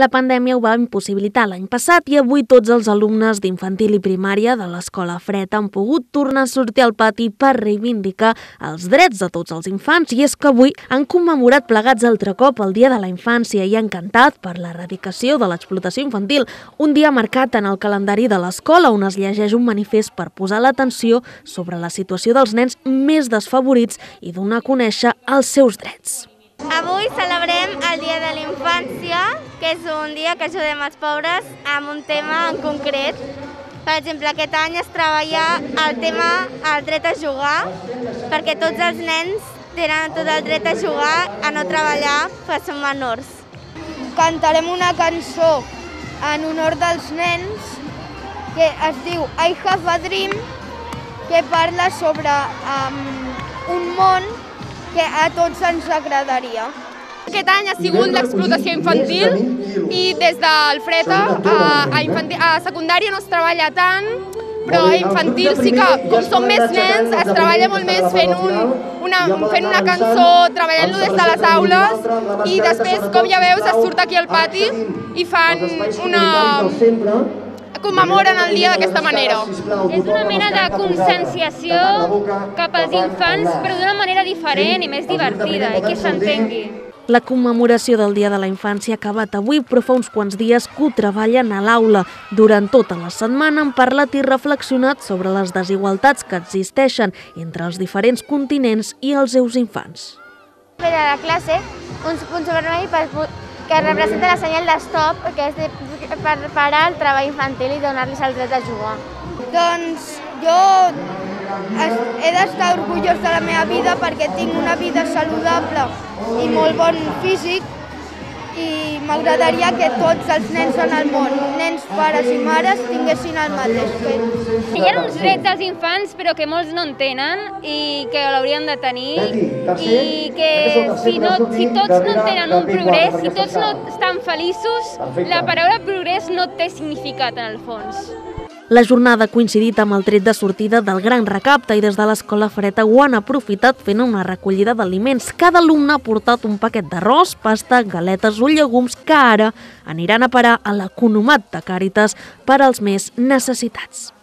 La pandèmia ho va impossibilitar l'any passat i avui tots els alumnes d'infantil i primària de l'Escola Fred han pogut tornar a sortir al pati per reivindicar els drets de tots els infants. I és que avui han commemorat plegats altre cop el Dia de la Infància i han cantat per l'erradicació de l'explotació infantil, un dia marcat en el calendari de l'escola on es llegeix un manifest per posar l'atenció sobre la situació dels nens més desfavorits i donar a conèixer els seus drets. Avui celebrem el Dia de la Infància, que és un dia que ajudem els pobres amb un tema en concret. Per exemple, aquest any es treballa el tema el dret a jugar, perquè tots els nens tenen tot el dret a jugar, a no treballar, perquè són menors. Cantarem una cançó en honor dels nens que es diu I Have a Dream, que parla sobre un món que a tots ens agradaria. Aquest any ha sigut l'explotació infantil i des del Fred a secundària no es treballa tant, però a infantil sí que, com som més nens, es treballa molt més fent una cançó, treballant-lo des de les aules i després, com ja veus, es surt aquí al pati i fan commemoren el dia d'aquesta manera. És una mena de conscienciació cap als infants, però d'una manera diferent i més divertida, i que s'entengui. La commemoració del Dia de la Infància ha acabat avui, però fa uns quants dies que ho treballen a l'aula. Durant tota la setmana han parlat i reflexionat sobre les desigualtats que existeixen entre els diferents continents i els seus infants. Per a la classe, un punt vermell que representa la senyal de stop, que és per parar el treball infantil i donar-los el dret a jugar. Doncs jo he d'estar orgullós de la meva vida perquè tinc una vida saludable i molt bon físic i m'agradaria que tots els nens en el món, nens, pares i mares, tinguessin el mateix fet. Hi ha uns drets dels infants però que molts no en tenen i que l'haurien de tenir i que si tots no en tenen un progrés, si tots no estan feliços, la paraula progrés no té significat en el fons. La jornada ha coincidit amb el tret de sortida del gran recapte i des de l'Escola Fred ho han aprofitat fent una recollida d'aliments. Cada alumne ha portat un paquet d'arròs, pasta, galetes o llegums que ara aniran a parar a l'economat de Càritas per als més necessitats.